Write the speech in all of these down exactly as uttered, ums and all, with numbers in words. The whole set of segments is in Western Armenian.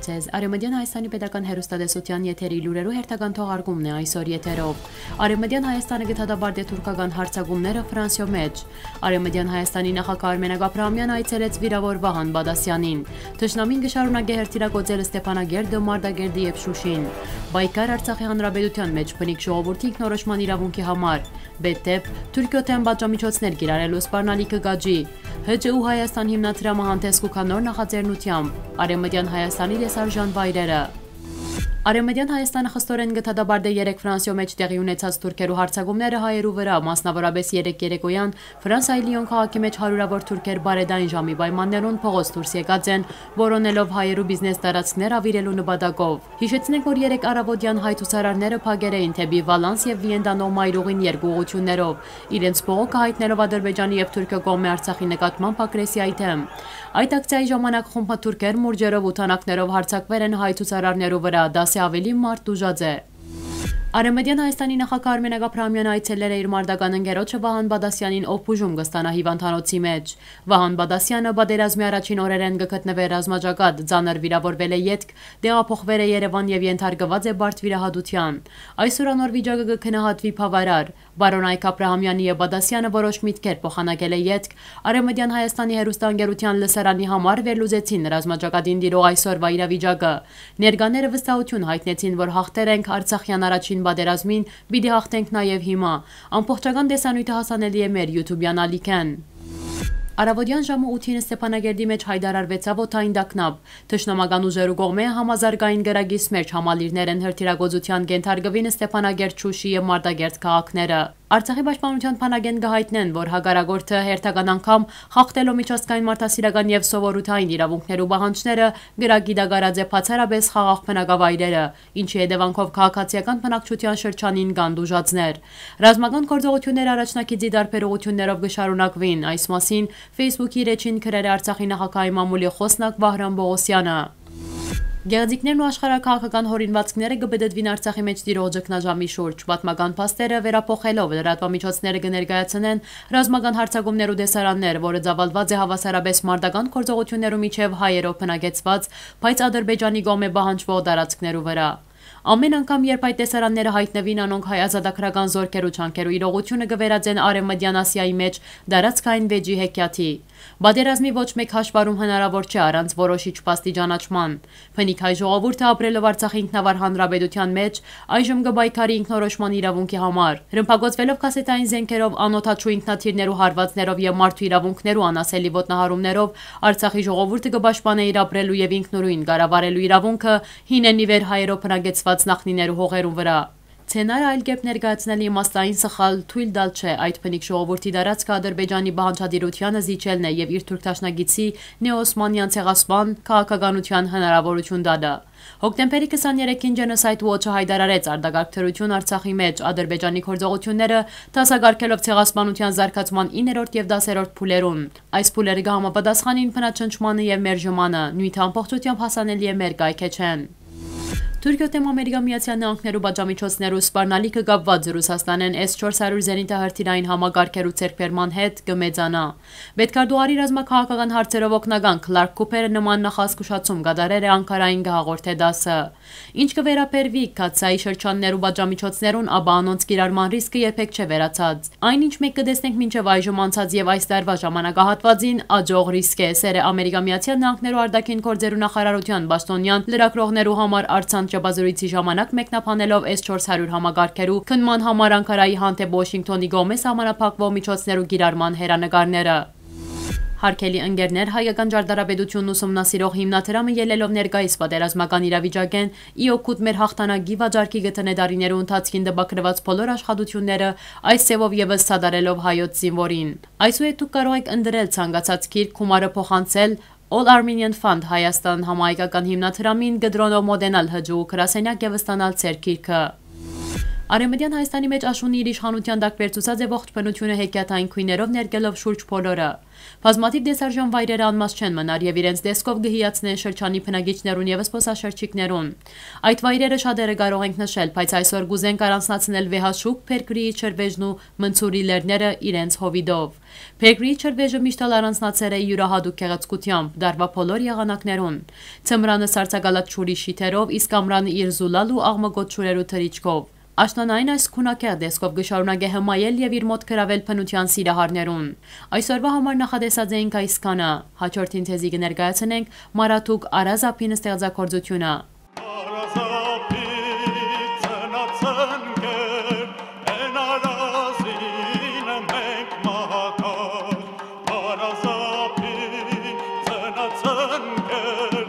Ձեզ Արեւմտյան Հայաստանի պետական հեռուստատեսութեան եթերի լուրերու հերթական թողարկումն է այսօր եթերով։ Արեւմտյան Հայաստանը կը դատապարտէ թուրքական հարձակումները Ֆրանսիոյ մէջ։ Արեւմտյան Հայաստանի նախագահ Արմենակ Աբրահամեան այցելեց վիրաւոր Վահան Բադասեանին։ Թշնամին կը շարունակէ հրթիռակոծել Ստեփանագերդը, Մարտակերտի եւ Շուշին։ Պայքար Արցախի Հանրապետութեան մէջ բնիկ ժողովուրդի ինքնորոշման իրաւունքի համար։ Բետտեպ, Թուրքիոյ դէմ պատժամիջոցներ կիրառելու սպառնալիքը կ'աճի։ Հ Ջ ու Հայաստան հիմնադրամը հանդէս կու գայ նոր նախաձեռնությամբ Արեւմտյան Հայաստանի տեսարժան վայրերը։ Արեւմտյան Հայաստանը խստորեն կը դատապարտէ երեկ Ֆրանսիոյ մէջ տեղի ունեցած թուրքերու հարձակումները հայերու վրայ, մասնաւորապէս երեկ երեկոյեան Ֆրանսայի Լիոն քաղաքի մէջ հարիւրաւոր թուրքեր բարեդային ժամի պայմաններուն փողոց դուրս եկած են, որոնելով հայերու բիզնես տարածքներ աւիրելու նպատակով։ Յիշեցնենք, որ երեկ առաւօտեան հայ ցուցարարները փակեր էին դէպի Վալանս եւ Վիեն տանող մայրուղին երկու ուղղութիւններով, իրենց բողոքը յայտնելով Ադրբեջանի եւ Թուրքիոյ կողմէ Արցախի նկատմամբ ագրեսիայի դէմ։ Այդ ակցիայի ժամանակ խումբը թուրքեր մուրճերով ու թանաքներով հարձակուեր են հայ ցուցարարներու վրայ, դասէ աւելի մարդ տուժած է։ Արեւմտյան Հայաստանի նախագահ Արմենակ Աբրահամեան այցելեր է իր մարտական ընկերոջը Վահան Բադասեանին, ով բուժում կը ստանայ հիւանդանոցի մէջ։ Վահան Բադասեանը պատերազմի առաջին օրերէն կը գտնուէր ռազմաճակատ, ծանր վիրաւորուելէ ետք տեղափոխուեր է Երեւան եւ ենթարկուած է բարդ վիրահատութեան։ Այսօր անոր վիճակը կը գնահատուի բաւարար։ Պարոն Այգ Աբրահամեանի եւ Բադասեանը որոշ միտքեր փոխանակելէ ետք, Արեւմտյան Հայաստանի հեռուստաընկերութեան լսարանի համար վերլուծեցին ռազմաճակատին տիրող այսօրվա իրավիճակը։ Ներկաները վստահութիւն յայտնեցին, որ յաղթեր ենք Արցախեան առաջին պատերազմին, պիտի յաղթենք նաեւ հիմա։ Ամբողջական տեսանիւթը հասանելի է մեր YouTube-յան ալիքէն։ Առաւօտեան ժամը ութին Ստեփանագերդի մէջ յայտարարուեցաւ օդային տագնապ։ Թշնամական ուժերու կողմէ համազարգային կրակի Սմերչ համալիրներէն հրթիռակոծութեան կ'ենթարկուին Ստեփանագերդ, Շուշի եւ Մարտակերտ քաղաքները։ Արցախի պաշտպանութեան բանակէն կը յայտնեն, որ հակառակորդը հերթական անգամ խախտելով միջազգային մարդասիրական եւ սովորութային իրաւունքներու պահանջները, կրակի տակ առած է բացառապէս խաղաղ բնակավայրերը, ինչի հետեւանքով քաղաքացիական բնակչութեան շրջանին կան տուժածներ։ Ռազմական գործողութիւնները առաջնագիծի տարբեր ուղղութիւններով կը շարունակուին, այս մասին Facebook-ի իր էջին գրեր է Արցախի նախագահի մամուլի խօսնակ Վահրամ Պողոսեանը։ Գեղձիկներն ու աշխարհաքաղաքական յօրինուածքները կը պտտուին Արցախի մէջ տիրող ճգնաժամի շուրջ։ Պատմական փաստերը վերափոխելով լրատուամիջոցները կը ներկայացնեն ռազմական հարձակումներու տեսարաններ, որը ծաւալուած է հաւասարապէս մարտական գործողութիւններու միջեւ հայերով բնակեցուած, բայց Ադրբեջանի կողմէ պահանջուող տարածքներու վրայ։ Ամէն անգամ, երբ այդ տեսարանները յայտնուին, անոնք հայ ազատագրական զօրքերու ջանքերու իրողութիւնը կը վերածեն Արեւմտեան Ասիայի մէջ տարածքային վեճի հեքիաթի։ Պատերազմի ոչ մէկ հաշվառում հնարաւոր չէ առանց որոշիչ փաստի ճանաչման։ Բնիկ հայ ժողովուրդը, ապրելով Արցախի ինքնավար հանրապետութեան մէջ, այժմ կը պայքարի ինքնորոշման իրաւունքի համար։ Ռմբակոծուելով կասետային զէնքերով, անօդաչու ինքնաթիռներու հարուածներով եւ մարդու իրաւունքներու անասելի ոտնահարումներով, Արցախի ժողովուրդը կը պաշտպանէ իր ապրելու եւ ինքնուրոյն կառավարելու իրաւունքը, հինէն ի վեր հայերով բնակեցուած նախնիներու հողերուն վրայ։ Սցենարը այլ կերպ ներկայացնելը իմաստային սխալ թոյլ տալ չէ, այդ բնիկ ժողովուրդի տարածքը Ադրբեջանի պահանջատիրութեանը զիջելն է եւ իր թուրք դաշնակիցի նեօսմանեան ցեղասպան քաղաքականութեան հնարաւորութիւն տալը։ Հոկտեմբերի քսաներեքին Genocide Watch-ը յայտարարեց արտակարգ դրութիւն Արցախի մէջ, Ադրբեջանի գործողութիւնները դասակարգելով ցեղասպանութեան զարգացման իններորդ եւ դասերորդ փուլերուն։ Այս փուլերը կը համապատասխանին բնաճնճմանը եւ մերժմանը, նիւթը ամբողջութեամբ հասանելի է մեր կայքէջէն։ Թուրքիոյ դէմ Ամերիկա Միացեալ Նահանգներու պատժամիջոցներու սպառնալիքը կապուած Ռուսաստանէն S չորս հարիւր զենիթահրթիռային համակարգերու ձեռքբերման հետ կը մեծանայ։ Պետքարտուղարի ռազմաքաղաքական հարցերով օգնական Քլարք Քուփերը նման նախազգուշացում կատարեր է Անկարային, կը հաղորդէ տասը։ Ինչ կը վերաբերուի Քացայի շրջաններու պատժամիջոցներուն, ապա անոնց կիրառման ռիսկը երբեք չէ վերացած։ Այն, ինչ մենք կը տեսնենք մինչեւ այժմ անցած եւ այս տարուայ ժամանակահատուածին, աճող ռիսկ է, սեր է Ամերիկա Միացեալ Նահանգներու արտաքին գործերու նախարարութեան պաշտօնեան լրագրողներու համար առցանց ճեպազրոյցի ժամանակ մեկնաբանելով S չորս հարիւր համակարգերու քննման համար Անկարայի հանդէպ Ուաշինկթոնի կողմէ սահմանափակուող միջոցներու կիրառման հեռանկարները։ Հարգելի ընկերներ, Հայկական ճարտարապետությունն ուսումնասիրող հիմնադրամը, ելլելով ներկայիս պատերազմական իրավիճակէն, ի օգուտ մեր յաղթանակի վաճառքի կը դնէ տարիներու ընթացքին տպագրուած բոլոր աշխատութիւնները, այս ձեւով եւս սատարելով հայոց զինուորին։ Այսուհետ դուք կարող էք ընտրել ցանկացած գիրք, գումարը փոխանցել All Armenian Fund Հայաստան համահայկական հիմնադրամին, կտրոնով մոտենալ Հ Ջ Ու գրասենեակ եւ ստանալ ձեր գիրքը։ Արեւմտեան Հայաստանի մէջ աշունը իր իշխանութեան տակ վերցուցած է ողջ բնութիւնը հեքիաթային գոյներով ներկելով շուրջ բոլորը։ Բազմաթիւ տեսարժան վայրերը անմազ չեն մնար եւ իրենց տեսքով կը հիացնեն շրջանի բնակիչներուն եւ զբօսաշրջիկներուն։ Այդ վայրերը շատերը կարող ենք նշել, բայց այսօր կուզենք առանձնացնել վեհաշուք Փերկրիի ջրվեժն ու Մնցուրի լեռները իրենց հովիտով։ Փերկրիի ջրվեժը միշտ ալ առանձնացեր է յուրահատուկ գեղեցկութեամբ, տարուայ բոլոր եղանակներուն։ Ձմրանը սառցակալած ջուրի շիթերով, իսկ ամրանը իր զուլալ ու աղմկոտ ջուրերու թռիչքով։ Աշնանային այս գունագեղ տեսքով կը շարունակէ հմայել եւ իր մօտ գրաւել բնութեան սիրահարներուն։ Այսօրուայ համար նախատեսած էինք այսքանը։ Հաջորդին ձեզի կը ներկայացնենք Մարաթուկ Արազ ափին ստեղծագործութիւնը։ Արազ ափի ծնած ընկեր, են արազին մենք մահակա Արազ ափի ծնած ընկեր,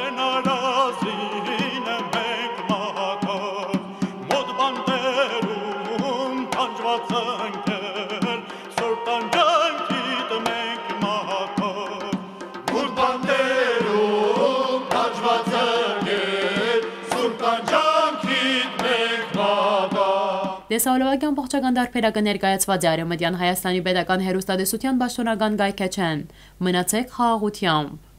են արազին մենք մահակա մոտ բանտերում տանջուած ընկեր, սուրբ տանջանքիդ մենք մահակա մոտ բանտերում տանջուած ընկեր, սուրբ տանջանքիդ մենք մահակա Տեսահոլովակի ամբողջական տարբերակը ներկայացված է Արեւմտեան Հայաստանի Պետական Հեռուստատեսութեան պաշտօնական կայքէջէն։ Մնացեք խաղաղութեամբ։